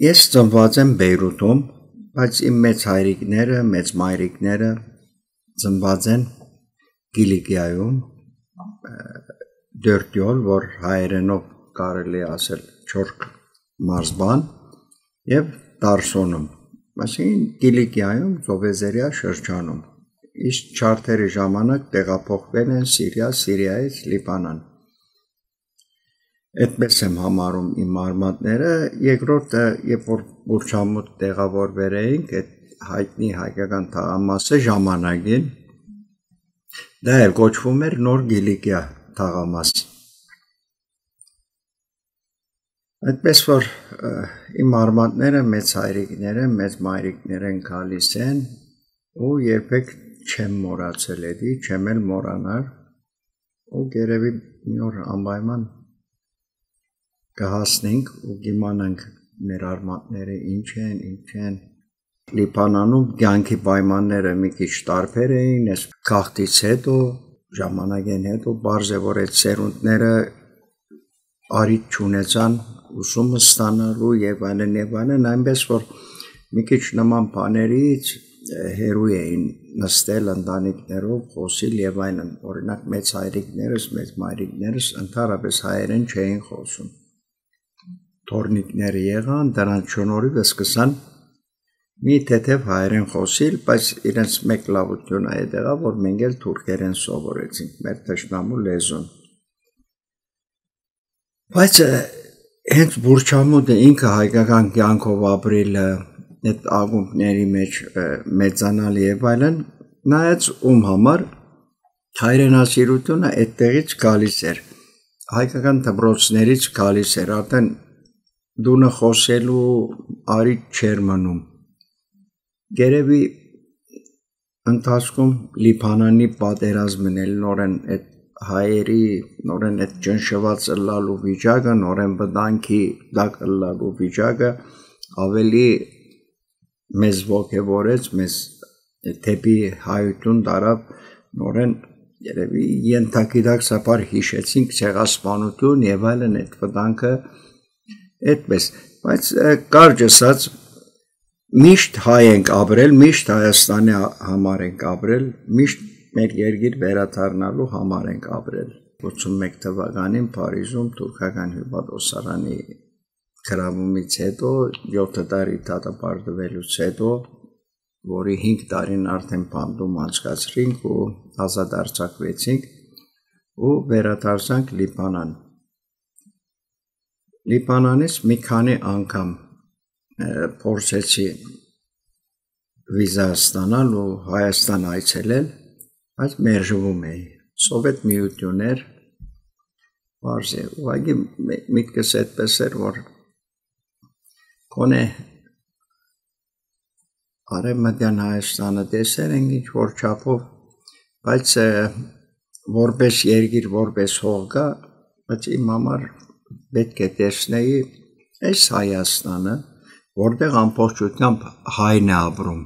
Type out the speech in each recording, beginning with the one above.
Ես ծնված եմ Բեյրութում, բայց իմ մեծ հայրիկները, մեծ մայրիկները ծնված են Կիլիկիայում, Դյորտյոլ, որ հայերենով կարելի ասել չորք մարզբան, եւ Տարսոնում, այսինքն Կիլիկիայում Ծովեզերիա շրջանում, իսկ չարթերի ժամանակ տեղափոխվել են Սիրիայից Լիբանան։ Այդպես եմ համարում իմ արմատները, երկրորդը, երբ որ Բուրչամուտ տեղավորվել էինք, այդ հայտնի հայկական թաղամասը ժամանակին, դա էլ կոչվում էր Նոր Կիլիկիա թաղամաս։ Այդպես որ իմ արմատները մեծ հայրիկները, մեծ մայրիկներ են գալիս են ու երբեք չեմ մոռացել էդի, չեմ էլ մոռանալ ու երևի մի օր անպայման կհասնենք ու կիմանանք մեր արմատները ինչ են։ Լիբանանում կյանքի պայմանները մի քիչ տարբեր էին, այս քաղաքից հետո, ժամանակեն հետո բարձ է որ այդ սերունդները արիթ չունեցան ուսումը ստանալու եւ այլն, այնպես որ մի քիչ նման բաներից հերոյ էին նստել ընտանիքներով, խոսիլ եւ այլն, օրինակ մեծ հայրիկներս, մեծ մայրիկներս ընդհանրապես հայերեն չէին խոսում։ Թորնիկները եղան, դրանց շնորհիվ սկսան մի թեթև հայերեն խոսիլ, բայց իրենց մեկ լավությունը այդ եղավ, որ մենք էլ թուրքերեն սովորեցինք, մեր թշնամու լեզուն։ Բայց հենց Բուրչամուտը ինքը հայկական կյանքով ապրելը, այդ ակումբների մեջ մեծանալ եւ այլն, նայած ում համար հայրենասիրությունը այդտեղից գալիս էր, հայկական դպրոցներից գալիս էր, արդեն դունը խոսելու արիթ չէր մնում։ Երևի ընթացքում Լիբանանի պատերազմն էլ նորեն այդ հայերի նորեն այդ ճնշված ըլլալու վիճակը, նորեն վտանգի տակ ըլլալու վիճակը ավելի մեզ ոգևորեց, մեզ թեպի հայություն տարավ, նորեն երևի ենթագիտակցաբար հիշեցինք ցեղասպանություն եւ այլն այդ վտանգը այդպես, բայց կարճ ասած միշտ հայ ենք ապրել, միշտ Հայաստանի համար ենք ապրել, միշտ մեր երկիր վերադառնալու համար ենք ապրել։ 81 թվականին Փարիզում թուրքական հյուպատոսարանի գրավումից հետո 7 տարի դատապարտվելուց հետո, որի 5 տարին արդեն բանդում անցկացրինք ու ազատ արձակվեցինք ու վերադարձանք Լիբանան։ Լիբանանից մի քանի անգամ փորձեցի վիզա ստանալ ու Հայաստան այցելել, բայց մերժվում էի։ Սովետ միություն էր, բարձ է, ուղղակի միտքս այդպես էր, որ գոնե Արևմտյան Հայաստանը տեսել ենք ինչ-որ չափով, բայց որպես երկիր, որպես հող կա, բայց իմ համար պետք է տեսնեի այս Հայաստանը, որտեղ ամբողջությամբ հայն է ապրում,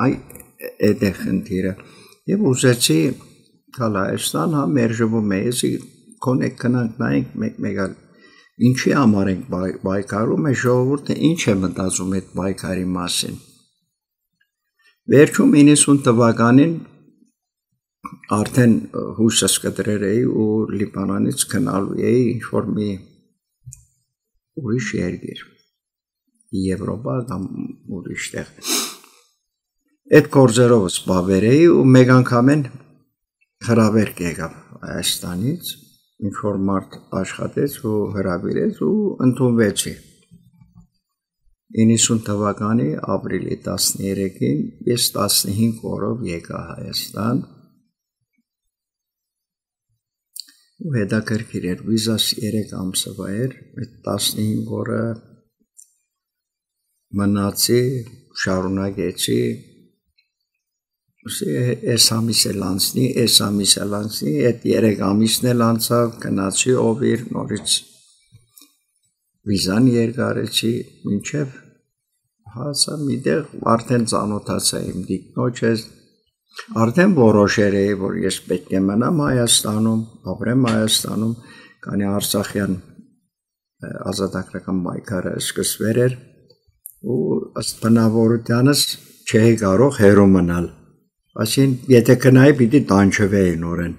այդ է խնդիրը, եւ ուզեցի գալ Հայաստան, հա մերժվում է, ես գոնե գնանք նայենք մեկ-մեկ ինչի համար ենք պայքարում, է ժողովուրդը ինչ է մտածում այդ պայքարի մասին։ Վերջում 90 թվականին արդեն հույսս կտրել էի ու Լիբանանից գնալու էի ինչ-որ մի ուրիշ երկիր, Եվրոպա կամ ուրիշ տեղ։ Այդ գործերով զբաղվել էի ու մեկ անգամեն հրավերք եկավ Հայաստանից, ինչ-որ մարդ աշխատեց ու հրավիրեց ու ընդունվեցի։ 90 թվականի ապրիլի 13-ին ես 15 օրով եկա Հայաստան ու հետաքրքիր էր, վիզաս 3 ամսվա էր, այդ 15 օրը մնացի, շարունակեցի, այս ամիս էլ անցնի, այդ 3 ամիսն էլ անցավ, գնացի օվիր, նորից վիզան երկարեցի, մինչև հասա միտեղ արդեն ծանոթացա իմ դիկնոջս, արդեն որոշել էի, որ ես պետք է մնամ Հայաստանում, ապրեմ Հայաստանում, քանի Արցախյան ազատագրական պայքարը սկսվել էր, ու ըստ բնավորությանս չէի կարող հեռու մնալ այսին եթե կնայի պիտի տանջվեի նորեն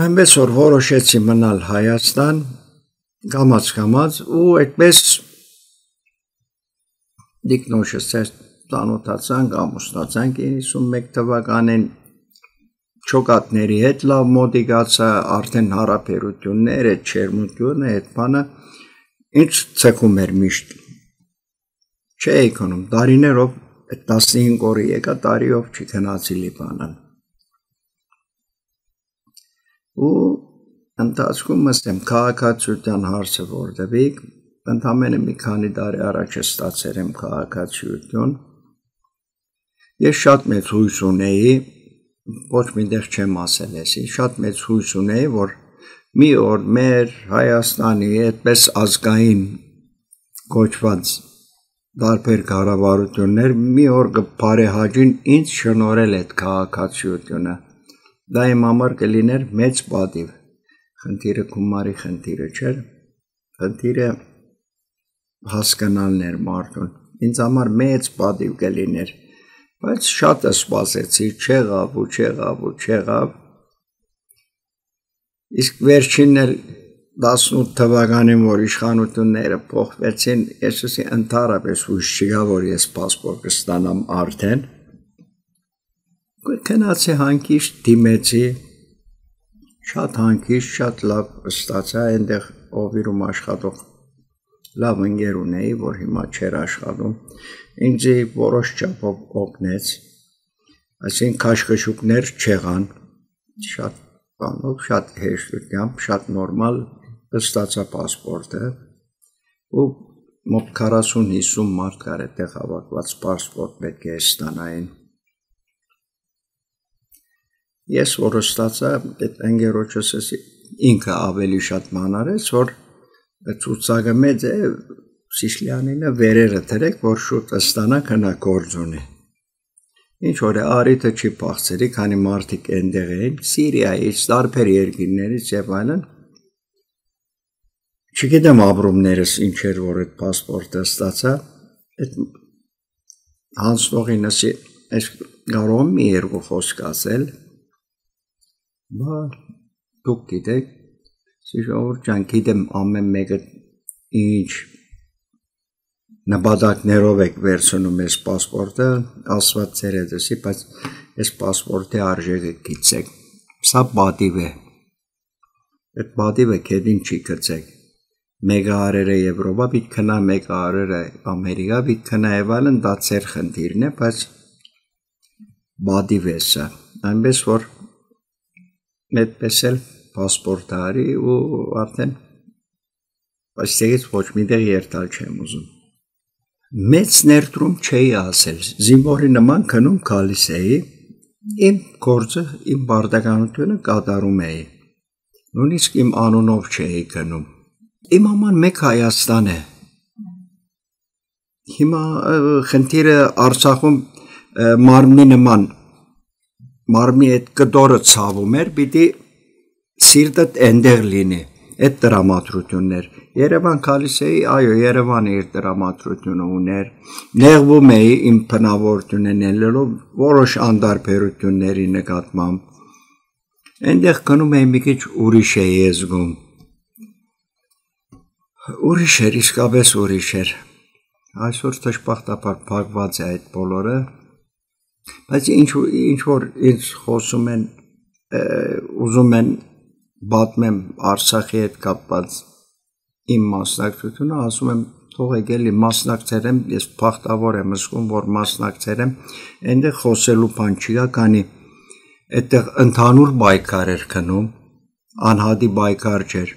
այնպես որ որոշեցի մնալ Հայաստան կամաց ու այդպես դիկնոշս ծանոթացանք ամուսնացանք 91 թվականին չոկատների հետ լավ մոտիկացա արդեն հարաբերություններ այդ չերմությունը այդ բանը ինչ ցեքում էր միշտ չէի կոնում տարիներով 15 օրի եկա տարիով չքնացի Լիբանան ու ընթացքում ասեմ քաղաքացիության հարցը որտեղիկ ընդամենը մի քանի տարի առաջ ստացել եմ քաղաքացիություն ես շատ մեծ հույս ունեի ոչ միտեղ չեմ ասել էսի շատ մեծ հույս ունեի որ մի օր մեր Հայաստանի այդպես ազգային կոչված դարբեր կառավարություններ մի օր կբարեհաջին ինձ շնորհել այդ քաղաքացիությունը դա իմ համար կլիներ մեծ պատիվ խնդիրը գումարի խնդիրը չէր խնդիրը հասկանալն էր մարդուն ինձ համար մեծ պատիվ կլիներ բայց շատ սպասեցի չեղավ իսկ վերջինն էլ 18 թվականին որ իշխանությունները փոխվեցին ես ընդհանրապես հույս չկա որ ես պասպորտ կստանամ արդեն գնացի հանգիստ դիմեցի շատ հանգիստ շատ լավ ստացա այնտեղ օվիրում աշխատող լավ ընկեր ունեի որ հիմա չէր աշխատում ինձ որոշ չափով օգնեց այսինքն քաշքշուկներ չեղան շատ բանով շատ հեշտությամբ շատ նորմալ ստացա պասպորտը ու մոտ 40-50 մարդ կար այդտեղ հավաքված պասպորտ պետք է ստանային ես որ ստացա այդ ընկերոջս ինքը ավելի շատ մանարեց որ ցուցակը մեծ է Սիսլյանինը վերերը դրեք որ շուտ ստանա քնա գործ ունի ինչ որ արիթը չի փախցրի քանի մարդիկ այնտեղ էին Սիրիայից տարբեր երկրներից եւ այլն չգիտեմ ապրումներս ինչ էր որ այդ պասպորտը ստացա այդ հանձնողինս ես կարող եմ մի երկու խոսք ասել բա դուք գիտեք Սիրիայով ջան գիտեմ ամեն մեկը ինչ նպատակներով եք վերցնում ես պասպորտը ասված ցերեդսի բայց այս պասպորտի արժեքը գիտեք սա պատիվ է այդ պատիվը քեդին չի գցեք մեկը արերը Եվրոպա պիտի քնա մեկը արերը Ամերիկա պիտի քնա եւ այլն դա ծեր խնդիրն է բայց պատիվ է սա այնպես որ այդպես էլ պասպորտ արի ու արդեն այստեղից ոչ միտեղ երթալ չեմ ուզում մեծ ներդրում չէի ասել զինվորի նման քնում գալիս էի իմ գործը իմ բարդականությունը կատարում էի նույնիսկ իմ անունով չէի քնում իմ համար մեկ Հայաստան է հիմա խնդիրը Արցախում մարմնի նման մարմնի այդ կտորը ցավում էր պիտի սիրտդ այնտեղ լինի այդ դրամատրություններ Երևան գալիս էի այո Երևանը իր դրամատրությունը ուներ նեղվում էի իմ բնավորություններով որոշ անդարբերությունների նկատմամբ այնտեղ գնում էի մի քիչ ուրիշ էի զգում ուրիշ էր իսկապես ուրիշ էր այսօր դժբախտաբար փակված է այդ բոլորը բայց ինչ որ ինձ խոսում են ուզում են պատմեմ Արցախի հետ կապված իմ մասնակցությունը ասում եմ թողեք էլի մասնակցել եմ ես բախտավոր եմ զգում որ մասնակցել եմ այնտեղ խոսելու բան չկա քանի այդտեղ ընդհանուր բայկար էր քնում անհատի բայկար չէր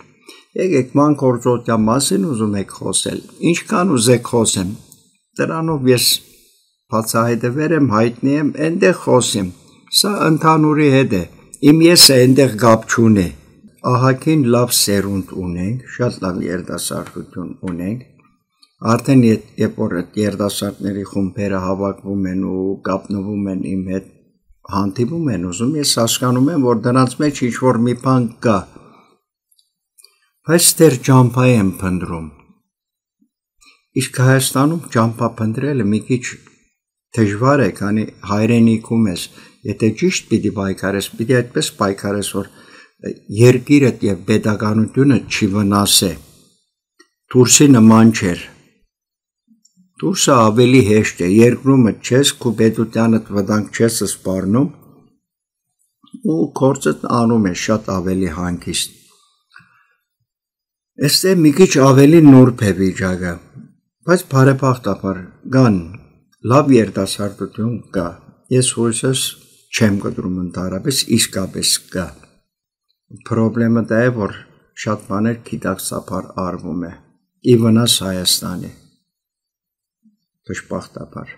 եկեք մանկօրձության մասին ուզում եք խոսել ինչքան ուզեք խոսեմ դրանով ես բացահայտվել եմ հայտնի եմ այնտեղ խոսեմ սա ընդհանուրի հետ է իմ եսը այնտեղ գապ չունի ահագին լավ սերունդ ունենք, շատ լավ երիտասարդություն ունենք, արդեն երբ որ երիտասարդների խումբերը հավաքվում են ու կապնվում են իմ հետ հանդիպում են ուզում, ես հասկանում եմ, որ դրանց մեջ ինչ-որ մի բան կա, բայց դեռ ճամփա եմ փնտրում, Իսկ Հայաստանում ճամփա փնտրելը մի քիչ դժվար է, քանի հայրենիքում ես, եթե ճիշտ պիտի պայքարես, պիտի այդպես պայքարես, որ երկիրդ եւ պետականությունը չի վնասե։ Դուրսի նման չէր։ Դուրսը ավելի հեշտ է, երկրումը չես, քո պետությանդ վտանգ չես սպառնում ու գործդ անում է շատ ավելի հանգիստ։ Այստեղ մի քիչ ավելի նուրբ է վիճակը, բայց բարեբախտաբար կան լավ երիտասարդություն կա։ Ես հույսս չեմ կտրում ընդհանրապես, իսկապես կա։ Պրոբլեմը դա է, որ շատ բաներ գիտակցաբար արվում է, ի վնաս Հայաստանի։ Դժբախտաբար։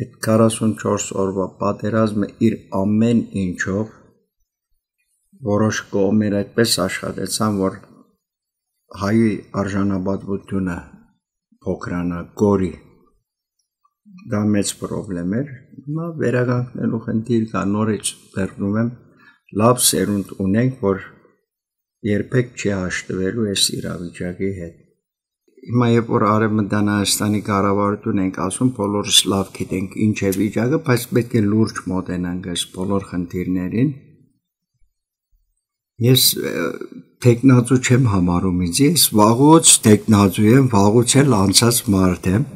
Այդ 44 օրվա պատերազմը իր ամեն ինչով որոշ կողմեր այդպես աշխատեցան, որ հայի արժանապատվությունը փոքրանա, գորի։ Դա մեծ պրոբլեմ էր, հիմա վերականգնելու խնդիր կա, նորից վերնում եմ, լավ սերունդ ունենք, որ երբեք չի հաշտվելու այս իրավիճակի հետ։ Հիմա երբ որ Արևմտյան Հայաստանի կառավարություն ենք ասում, բոլորս լավ գիտենք ինչ է վիճակը, բայց պետք է լուրջ մոտենանք այս բոլոր խնդիրներին։ Ես տեխնացու չեմ համարում ինձ, ես վաղուց տեխնացու եմ, վաղուց էլ անցած մարդ եմ։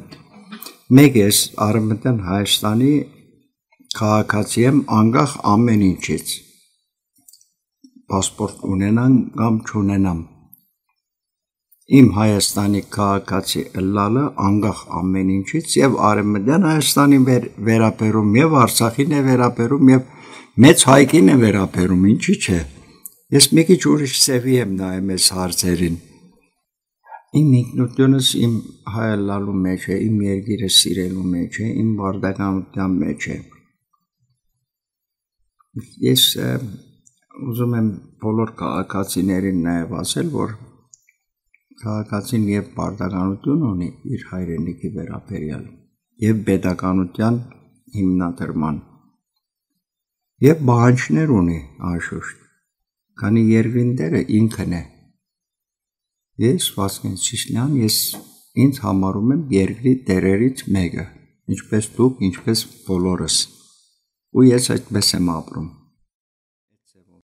Մեկ ես Արևմտյան Հայաստանի քաղաքացի եմ, անկախ ամեն ինչից։ Պասպորտ ունենամ կամ չունենամ։ Իմ Հայաստանի քաղաքացի ըլլալը անկախ ամեն ինչից եւ Արևմտյան Հայաստանի վերաբերում եւ Արցախին է վերաբերում եւ մեծ հայկին է վերաբերում, ինչի՞ չէ։ Ես մի քիչ ուրիշ սևի եմ նայում այս հարցերին։ Իմ ինքնությունս իմ հայալալու մեջ է, իմ երկիրը սիրելու մեջ է, իմ բարդականության մեջ է։ Ես ուզում եմ բոլոր քաղաքացիներին նաև ասել, որ քաղաքացին եւ բարդականություն ունի իր հայրենիքի վերաբերյալ եւ պետականության հիմնադրման եւ բանջներ ունի անշուշտ, քանի երկրին դերը ինքն է։ Ես Վասկեն Սիսլյան, ես ինձ համարում եմ երկրի տերերից մեկը, ինչպես դուք, ինչպես բոլորս, ու ես այդպես եմ ապրում։